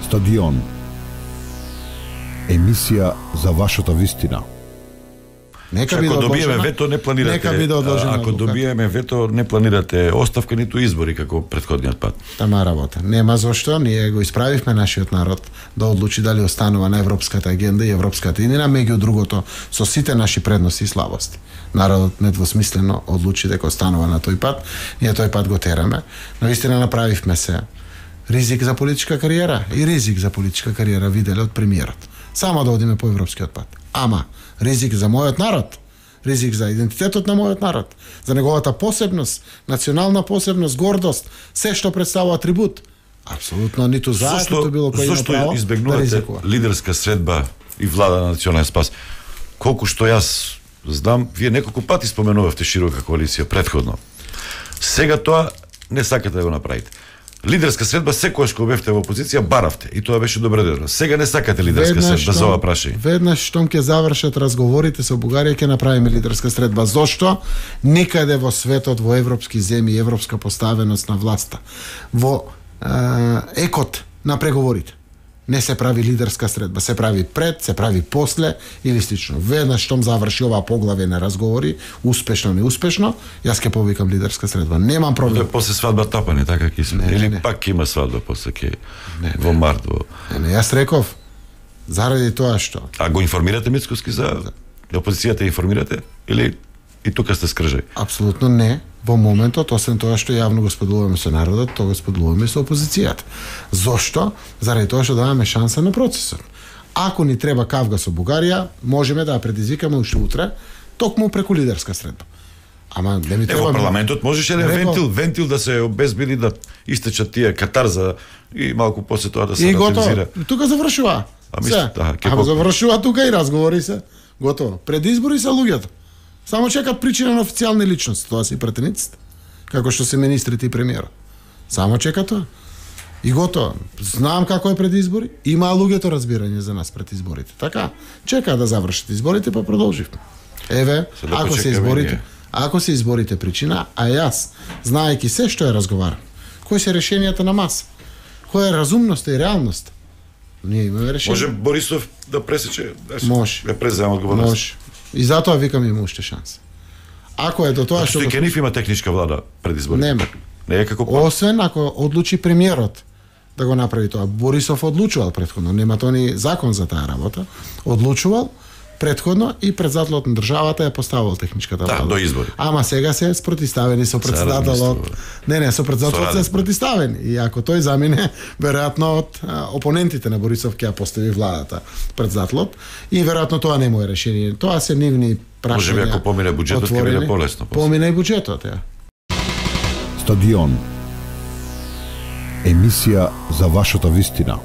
Стадион. Емисија за вашата вистина. Нека биде одложена. Ако добиеме вето, не планирате. Нека биде одложена. Ако добиеме вето, не планирате оставка ниту избори како претходниот пат. Тама работа. Нема зошто, ние го исправивме нашиот народ да одлучи дали останува на европската агенда и европската идеја, меѓу другото со сите наши предности и слабости. Народот недвосмислено одлучи дека останува на тој пат, ние тој пат го тераме, но истина направивме се ризик за политичка кариера и ризик за политичка кариера виделе од премиерот. Само да одиме по европскиот пат. Ама ризик за мојот народ, ризик за идентитетот на мојот народ, за неговата посебност, национална посебност, гордост, се што представува атрибут. Апсолутно ниту заштито било кој има право да избегнувате ризикува. лидерска средба и влада на национален спас? Колку што јас знам, вие неколку пати споменувавте широка коалиција претходно. Сега тоа не сакате да го направите. Лидерска средба секогаш кога бевте во опозиција баравте и тоа беше добредојдено. Сега не сакате лидерска средба за ова прашање. Веднаш штом ќе завршат разговорите со Бугарија ќе направиме лидерска средба. Зошто? Никаде во светот, во европски земји, европска поставеност на власта, во екот на преговорите не се прави лидерска средба, се прави пред, се прави после или слично. Веднаш штом заврши оваа поглаве на разговори, успешно неуспешно, јас ќе повикам лидерска средба. Немам проблем. После свадба тапани, така ќе се. Или пак ќе има свадба после ќе во март во. Не, јас реков заради тоа што. А го информирате Мицкоски за опозицијата, информирате или и тука сте скржај? Апсолутно не. Во моментот, освен тоа што јавно го споделуваме со народот, тоа го споделуваме со опозицијата. Зошто? Заради тоа што даваме шанса на процесот. Ако ни треба кавга со Бугарија, можеме да ја предизвикаме уште утре, токму преку лидерска средба. Ама не ми треба. Во парламентот можеше вентил да се обезбеди да истечат тие катарза и малку после тоа да се ративизира. И тука завршува. Ама завршува тука и разговори се. Готово. Пред избори се луѓето. Само чекат причина на официјални личности, тоа се и претениците, како што се министрите и премиерот. Само чека тоа. И готово. Знам како е пред избори, има луѓето разбирање за нас пред изборите. Така, чека да завршат изборите, па продолживме. Еве, ако се изборите причина, а јас, знаејќи се што е разговарам, кои се решенијата на маса, која е разумноста и реалноста, ние имаме решение. Може Борисов да пресече, може, да презема одговорност. Може. И затоа викам има уште шанса. Ако е до тоа што Стекенив има техничка влада пред изборите. Нема. Не е како освен ако одлучи премиерот да го направи тоа. Борисов одлучувал претходно, нема тоа ни закон за таа работа. Одлучувал претходно и председателот на државата ја поставил техничката влада. Да, до избори. Ама сега се спротиставени со председателот. Не, со председателот се спротиставени. И ако тој замине, веројатно од опонентите на Борисов ќе ја постави владата председателот и веројатно тоа не му е решение. Тоа се нивни прашања. Може би ако помине буџетот ќе биде полесно. Помине и буџетот, ја. Стадион. Емисија за вашата вистина.